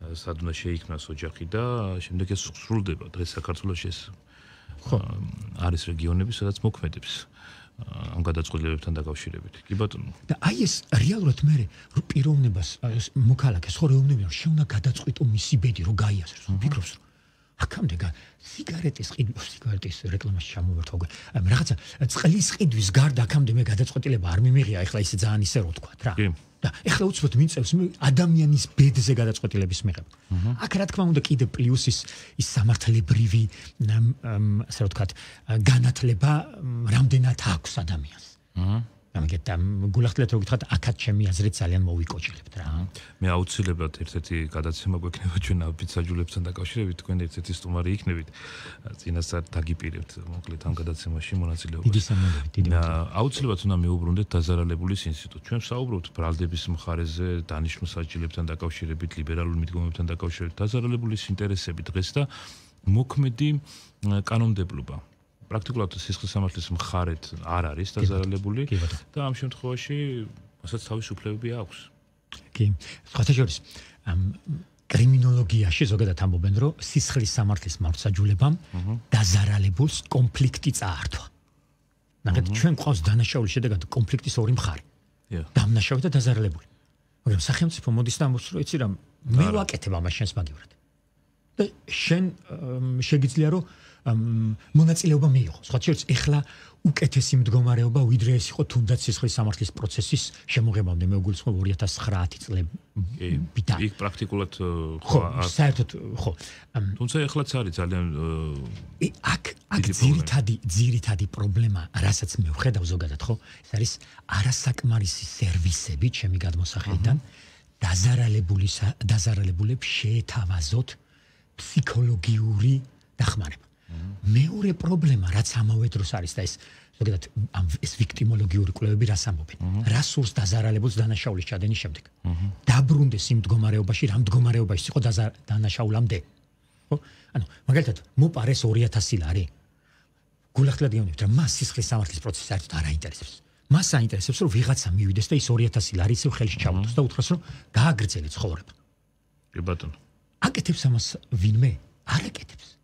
სად უნდა შეიქმნას ოჯახი და შემდეგ ეს სრულდება. დღეს საქართველოში ეს არის რეგიონები, სადაც მოქმედებს ამ გადაწყვეტილებებთან დაკავშირებით. კი ბატონო. და აი ეს რეალურად მე პიროვნებას მოქალაქეს ხო რეუბნებიან რომ შეუნა გადაწყვეტო მისი ბედი რომ გაიაზროს. ვფიქრობს რომ აქამდე სიგარეტის რეკლამაში ჩამოვერთვა რაღაცა წყლის ყიდვის გარდა აქამდე მე გადაწყვეტილება არ მიმიღია, ეხლა ისე ძალიან ისე რო თქვა რა. და ეხლა უცბად მიწევს ადამიანის ბედზე გადაწყვეტილების მიღება. აქ რა თქმა უნდა კიდე პლუს ის სამართლებრივი ასე რომ ვთქვათ განათლება რამდენად აქვს ადამიანს. ამიტომ გულახდილად რო გითხრათ აქაც ჩემი აზრით ძალიან მოვიკოჭილებთ რა. მე აუცილებლად ერთ-ერთი გადაცემა გვექნება ჩვენ აფიცაჯულებთან დაკავშირებით, თქვენ ერთ-ერთი სტუმარი იქნებით. წინასწარ დაგიპირებთ მოკლედ ამ გადაცემაში მონაწილეობას. დიდი სამადლობი, დიდი მადლობა. აუცილებლად უნდა მეუბრუნდეთ დაზარალებულის ინსტიტუტს. ჩვენ ვსაუბრობთ ბრალდების მხარეზე, დანიშნულ-საჭილებთან დაკავშირებით, ლიბერალურ მიდგომებთან დაკავშირებით, დაზარალებულის ინტერესები დღეს და მოქმედი კანონმდებლობა. პრაქტიკულად სისხლის სამართლის მხარეთ არ არის დაზარალებული და ამ შემთხვევაში მასაც თავისუფლებები აქვს. კი, სხვათა შორის კრიმინოლოგიაში ზოგადად ამბობენ, რომ სისხლის სამართლის მართლმსაჯულებამ დაზარალებულს კონფლიქტი წაართვა. ნახეთ, ჩვენ ყავს დანაშაულის შედეგად კონფლიქტის ორი მხარე. დამნაშავე და დაზარალებული. მაგრამ სახელმწიფო მოდის და ამბობს, რომ იცი რა, მე ვაკეთებ ამას შენს მაგივრად. და შენ შეგიძლია რომ მონაწილეობა მიიღო. სხვა შორის ეხლა უკეთესი მდგომარეობა ვიდრე ეს იყო თუნდაც სისხლის სამართლის პროცესის შემოღებამდე მე ვგულისხმობ 2009 წლებიდან. იქ პრაქტიკულად ხო, საერთოდ ხო. თუმცა ეხლაც არის ძალიან აქ ძირითადი პრობლემა, რასაც მე ვხედავ ზოგადად, ხო? ეს არის არასაკმარისი სერვისები ჩემი გადმოსახედიდან დაზარალებულებს შეეთავაზოთ ფსიქოლოგიური დახმარება. მეორე პრობლემა, რაც ამავე დროს არის და ზოგადად ეს ვიქტიმოლოგიური კვლევები რას ამბობენ? რა სურს დაზარალებულს დანაშაულის ჩადენის შემდეგ? დაბრუნდეს იმ მდგომარეობაში, რა მდგომარეობაში იყო დანაშაულამდე. ხო? ანუ მაგალითად, მოპარეს 2000 ლარი. გულახდილად გეუბნებით, რომ მას სისხლის სამართლის პროცესი საერთოდ არ აინტერესებს. მას აინტერესებს, რომ ვიღაცა მივიდეს და ის 2000 ლარი ისევ ხელში ჩაუტოს და უთხრას, რომ გააგრძელე ცხოვრება. კი ბატონო. აკეთებს ამას ვინმე? არ აკეთებს.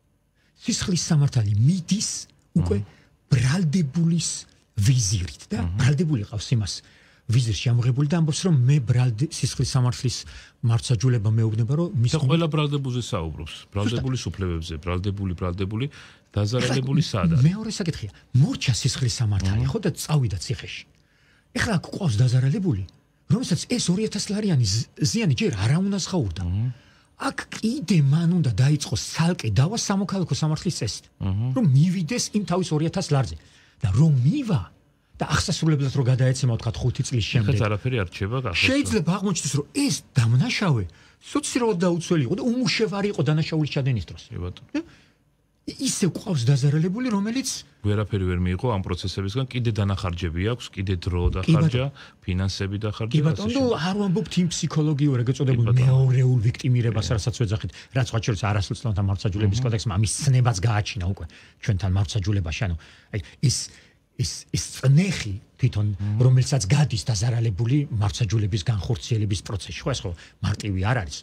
სისხლის სამართალი მიდის უკვე ბრალდებულის ვიზირით და ბრალდებული ყავს იმას ვიზირში ამოღებული და ამბობს რომ მე სისხლის სამართლის მართლმსაჯულება მეუბნება რომ მის ყველა ბრალდებულზე საუბრობს ბრალდებულის უფლებებზე ბრალდებული დაზარალებული სადა მეორე საკითხია მორჩა სისხლის სამართალი ხო და წავიდა ციხეში ეხლა აქ ყავს დაზარალებული რომელსაც ეს 2000 ლარიანი ზიანი ჯერ არ უნდა სხაურდა აქ კიდე მან უნდა დაიწყოს ცალკე დავა სამოქალაქო სამართლის წესით რომ მივიდეს იმ თავის 2000 ლარზე და რომ მივა და ახსასრულებლად რომ გადაეცემა თქვა 5 წლის შემდეგ. ხეთ არაფერი არ რჩება გახსოვს. შეიძლება აღმოჩნდეს რომ ეს დამნაშავე სოციალურად დაუცველი იყო და უმუშევარი იყო დანაშაულის ჩადენის დროს. კი ბატონო. ისე ყავს დაზარალებული რომელიც ვერაფერი ვერ მიიღო ამ პროცესებისგან კიდე დანახარჯები აქვს, კიდე დრო დახარჯა, ფინანსები დახარჯა. კი ბატონო, არ ვამბობთ იმ ფსიქოლოგიურ ეგრეთ წოდებულ მეორეულ ვიქტიმირებას, რასაც ვეძახით, რაც სხვა შორის არასოციალთა მართლმსაჯულების კოდექსმა ამის ცნებაც გააჩინა უკვე ჩვენთან მართლმსაჯულებაში, ანუ აი ის წნეხი თვითონ რომელსაც გადის დაზარალებული მართლმსაჯულების განხორციელების პროცესში, ხო ეს ხო მარტივი არ არის.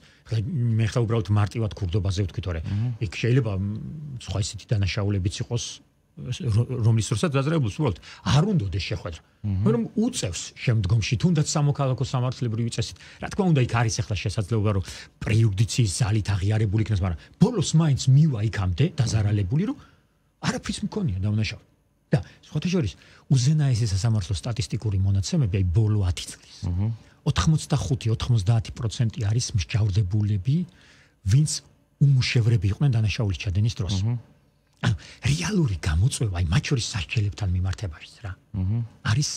მე ხა უბრალოდ მარტივად ქურდობაზე ვთქვით, თორე იქ შეიძლება სხვა ისეთი დანაშაულებიც იყოს, რომლის დროსაც დაზარალებულს უბრალოდ არ უნდადეს შეხვედრა. მაგრამ უწევს შემდგომში თუნდაც სამოქალაქო სამართლებრივი წესით. რა თქმა უნდა, იქ არის ახლა შესაძლებლობა, რომ პრეიუდიციის ზალით აღიარებული იქნას, მაგრამ ბოლოს მაინც მივა იქამდე დაზარალებული, რომ არაფრიც მქონია დანაშაული. და სხვათა შორის უზენაესი სასამართლო სტატისტიკური მონაცემები აი ბოლო 10 წლის 85-90% არის მსჯავრდებულები ვინც უმუშევრები იყვნენ დანაშაულის ჩადენის დროს ანუ რეალური გამოწვევა აი მათ შორის სასჯელებთან მიმართებაშიც რა არის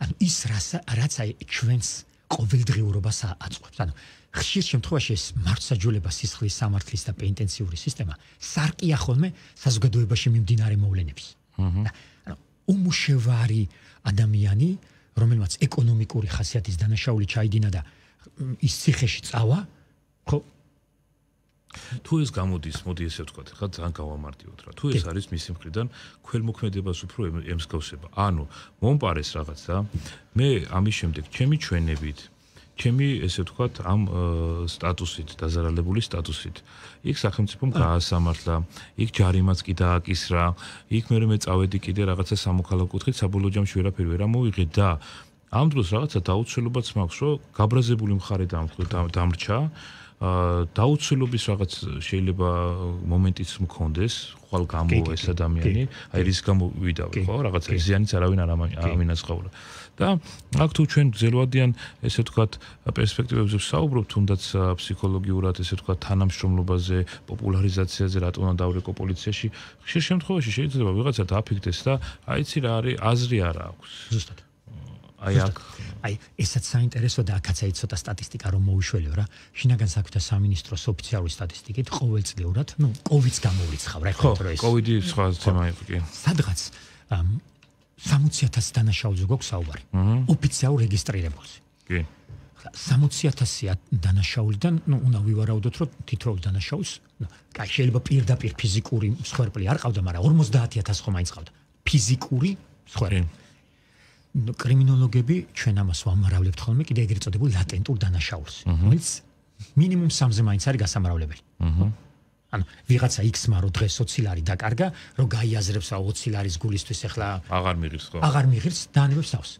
ანუ ის რაც აი ჩვენს ყოველდღიურობას აწყვეტს ანუ ხშირ შემთხვევაში ეს მართლმსაჯულება სისხლის სამართლის და პენიტენციური სისტემა სარკია ხოლმე საზოგადოებაში მიმდინარე მოვლენების ანუ უმუშევარი ადამიანი, რომელმაც ეკონომიკური ხასიათის დანაშაული ჩაიდინა და ის ციხეში წავა, ხო? თუ ეს გამოდის, მოდი ესე ვთქვათ, ხა ძალიან გავამარტივოთ რა. თუ ეს არის მისი მხრიდან ქველმოქმედებას უფრო ემსგავსება. ანუ მომპარეს რაღაცა, მე ამის შემდეგ ჩემი ჩვენებით ჩემი ესე ვთქვათ ამ სტატუსით დაზარალებული სტატუსით იქ სახელმწიფომ გაასამართლა იქ ჯარიმაც კი დააკისრა იქ მე წავედი კიდე რაღაცა სამოქალაქო კუთხით საბოლოო ჯამში ვერაფერი ვერ ამოვიღე და ამ დროს რაღაცა დაუცველობაც მაქვს რომ გაბრაზებული მხარე დამრჩა დაუცველობის რაღაც შეიძლება მომენტიც მქონდეს ხვალ გამო ეს ადამიანი აი რის გამო ვიდავი ხო რაღაცა ზიანიც არავინ არ ამინაცხოვა და აქ თუ ჩვენ გზელვადიან ესე ვთქვათ პერსპექტივებზე ვსაუბრობთ თუნდაც ფსიქოლოგიურად ესე ვთქვათ თანამშრომლობაზე პოპულარიზაციაზე რატომ უნდა დავრეკო პოლიციაში ხშირ შემთხვევაში შეიძლება ვიღაცა დააფიქდეს და აიცი რა არის აზრი არ აქვს ზუსტად აი ესაც საინტერესო და აქაც აი ცოტა სტატისტიკა რომ მოვიშველეო რა შინაგან საქმეთა სამინისტროს ოფიციალური სტატისტიკით ყოველწლიურად ნუ კოვიდს გამოვრიცხავ რა ხო ხო კოვიდი სხვა თემა იყო კი სადღაც 60,000 დანაშაულზე გვაქვს საუბარი ოფიციალურ რეგისტრირებულზე კი 60,000 დანაშაულიდან ნუ უნდა ვივარაუდოთ რომ თითოეულ დანაშაულს კაი შეიძლება პირდაპირ ფიზიკური მსხვერპლი არ ყავდა მაგრამ 50,000 ხომ მაინც ყავდა ფიზიკური მსხვერპლი კრიმინოლოგები ჩვენ ამას ვამრავლებთ ხოლმე კიდე ეგრეთ წოდებულ ლატენტურ დანაშაულს რომელიც მინიმუმ 3-ზე მაინც არის გასამრავლებელი ანუ ვიღაცა X-მა რო დღეს 20 ლარი დაკარგა რომ გაიაზრებს რა 20 ლარის გულისთვის ახლა აღარ მიღირს ხო აღარ მიღირს დაანებებს თავს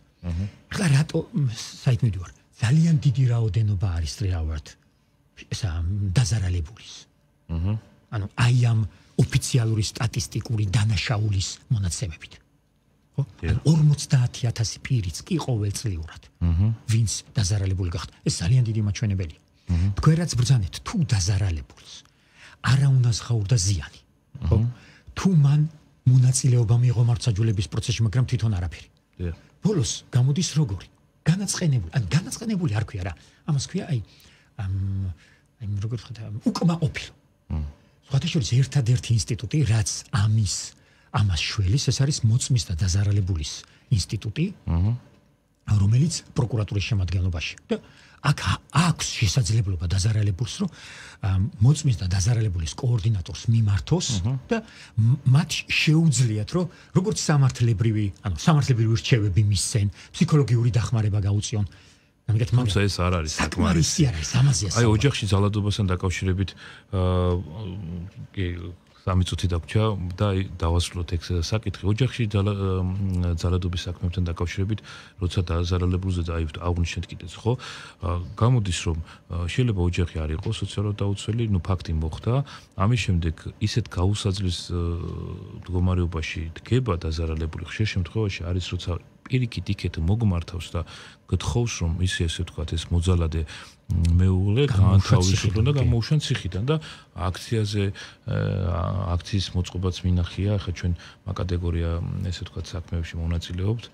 ახლა რატო საით მივდივარ ძალიან დიდი რაოდენობა არის ტრიავარდ ესა დაზარალებულის ანუ აი ამ ოფიციალური სტატისტიკური დანაშაულის მონაცემებით 50,000 პირიც კი ყოველწლიურად ვინც დაზარალებული გახდა ეს ძალიან დიდი მაჩვენებელია თქვენ რაც ბრძანეთ თუ დაზარალებულს არა უნდა სხაურდა ზიანი ხო თუ მან მონაწილეობა მიიღო მართლმსაჯულების პროცესში მაგრამ თვითონ არაფერი ბოლოს გამოდის როგორი განაწყენებული არ ქვია რა ამას ქვია აი როგორ ხდება უკმაყოფილო სხვათაშორის ერთადერთი ინსტიტუტი, რაც ამას შველის, ეს არის მოწმის და დაზარალებულის ინსტიტუტი, რომელიც პროკურატურის შემადგენლობაში. და აქ აქვს შესაძლებლობა დაზარალებულს, რომ მოწმის და დაზარალებულის კოორდინატორს მიმართოს და მათ შეუძლიათ, რომ როგორც სამართლებრივი რჩევები მისცენ, ფსიქოლოგიური დახმარება გაუწიონ. თუმცა ეს არ არის საკმარისი არ არის ამაზეა. აი ოჯახში ძალადობასთან დაკავშირებით სამი წუთი დაგვრჩა და დავასრულოთ ეგ საკითხი. ოჯახში ძალადობის საქმეებთან დაკავშირებით, როცა დაზარალებულზე აღვნიშნეთ კიდეც, ხო? გამოდის, რომ შეიძლება ოჯახი არ იყოს სოციალურად დაუცველი, ფაქტი მოხდა, ამის შემდეგ ისეთ გაუსაძლის მდგომარეობაში დგება დაზარალებული, ხშირ შემთხვევაში არის, როცა პირიქით იქეთ მოგმართავს და გთხოვს, რომ ისე ვთქვათ, ეს მოძალადე მეუღლე გაანთავისუფლონ და გამოუშვა ციხიდან და აქციის მოწყობაც მინახია, ახლა ჩვენ კატეგორია ესე ვთქვათ საქმეებში მონაწილეობთ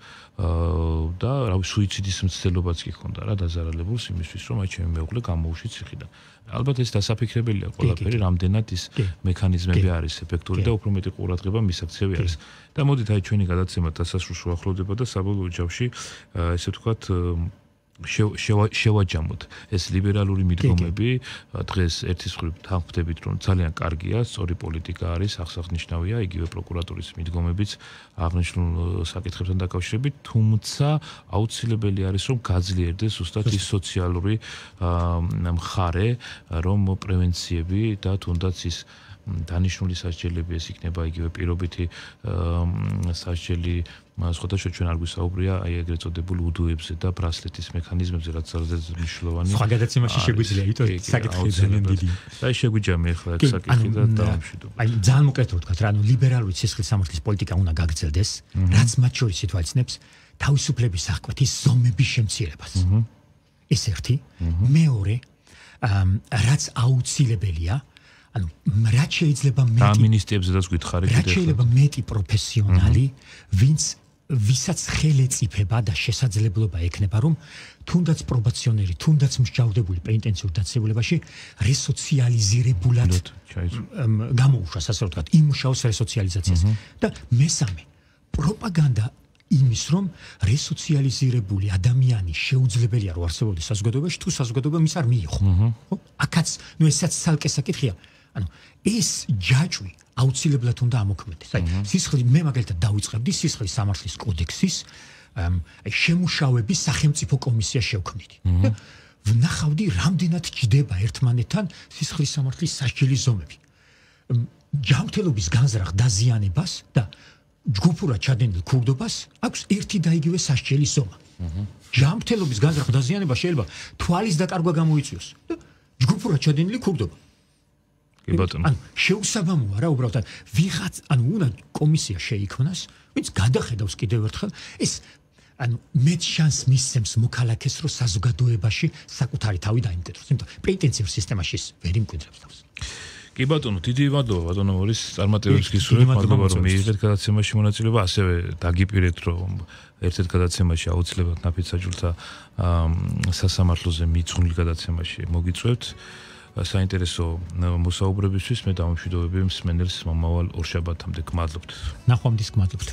და რავი სუიციდის მცდელობაც კი ჰქონდა რა დაზარალებულს იმისთვის, რომ აი ჩემი მეუღლე გამოუშვი ციხიდან. ალბათ ეს დასაფიქრებელია ყველაფერი, რამდენად ის მექანიზმები არის ეფექტური და უფრო მეტი ყურადღება მისაქცევი არის. და მოდით აი ჩვენი გადაცემა დასასრულს უახლოვდება და საბოლოო ჯამში ესე ვთქვათ შევაჯამოთ ეს ლიბერალური მიდგომები დღეს ერთის მხრივ თანხმდებით რომ ძალიან კარგია, სწორი პოლიტიკა არის, აღსანიშნავია იგივე პროკურატურის მიდგომებიც აღნიშნულ საკითხებთან დაკავშირებით, თუმცა აუცილებელი არის რომ გაძლიერდეს ზუსტად ის სოციალური მხარე, რომ პრევენციები და თუნდაც ის დანიშნული სასჯელები ეს იქნება იგივე პირობითი სასჯელი სხვადასხვა ჩვენ არ გვისაუბრია აი ეგრეთ წოდებულ უდოებზე და ბრასლეტის მექანიზმებზე რაც ძალიან მნიშვნელოვანი. სხვა გადაცემაში შეგვიძლია იტყვი საკითხი ძალიან დიდი. აი შეგვიჯამე ახლა ეგ საკითხი და დავამშვიდობ. აი ძალიან მოკლედ რო ვთქვათ რა, ლიბერალური სისხლის სამართლის პოლიტიკა უნდა გაგრძელდეს, რაც მათ შორის ითვალისწინებს თავისუფლების აღკვეთის ზომების შემცირებას. ეს ერთი, მეორე, რაც აუცილებელია რაც შეიძლება მეტი ამინისტიებზედაც გითხარი რაც შეიძლება მეტი პროფესიონალი, ვისაც ხელეწიფება და შესაძლებლობა ექნება, რომ თუნდაც პრობაციონერი, თუნდაც მსჯავრდებული პენიტენციურ დაწესებულებაში რესოციალიზირებულად გამოუშვას, ასე ვთქვათ, იმუშაოს რესოციალიზაციაზე. და მესამე, პროპაგანდა იმის, რომ რესოციალიზირებული ადამიანი შეუძლებელია რომ არსებობდეს საზოგადოებაში, თუ საზოგადოება მის არ მიიღო. ხო? აქაც, ესაც ცალკე საკითხია. ეს ჯაჭვი აუცილებლად უნდა ამოქმედდეს. აი, სისხლის მე მაგალითად დავიწყებდი სისხლის სამართლის კოდექსის შემუშავების სახელმწიფო კომისია შევქმნიდი. და ვნახავდი, რამდენად ჯდება ერთმანეთთან სისხლის სამართლის სასჯელის ზომები. ჯანმრთელობის განზრახ დაზიანებას და ჯგუფურად ჩადენილ ქურდობას აქვს ერთი და იგივე სასჯელის ზომა. ჯანმრთელობის განზრახ დაზიანებას შეიძლება თვალის დაკარგვა გამოიწვიოს და ჯგუფურად ჩადენილი ქურდობა. შეუსაბამოა რა უბრალოდ ვიღაც უნდა კომისია შეიქმნას, ვინც გადახედავს კიდევ ერთხელ ეს მეც შანსს მისცემს მოქალაქეს რომ საზოგადოებაში საკუთარი თავი დაიმკვიდროს, იმიტომ პენიტენციურ სისტემაში ვერ იმკვიდრებს თავს. კი ბატონო, დიდი მადლობა ბატონო მორის წარმატებებს გისურვებთ, მადლობა რომ მიიღეთ გადაცემაში მონაწილეობა, ასევე დაგიპირეთ რომ ერთ-ერთ გადაცემაში აუცილებლად ნაფიც საჯულთა სასამართლოზე მიძღვნილ გადაცემაში მოგიწვევთ. საინტერესო მოსაუბრებისთვის მე დავამშვიდობები მსმენელს მომავალ ორშაბათამდე. გმადლობთ. ნახვამდის გმადლობთ.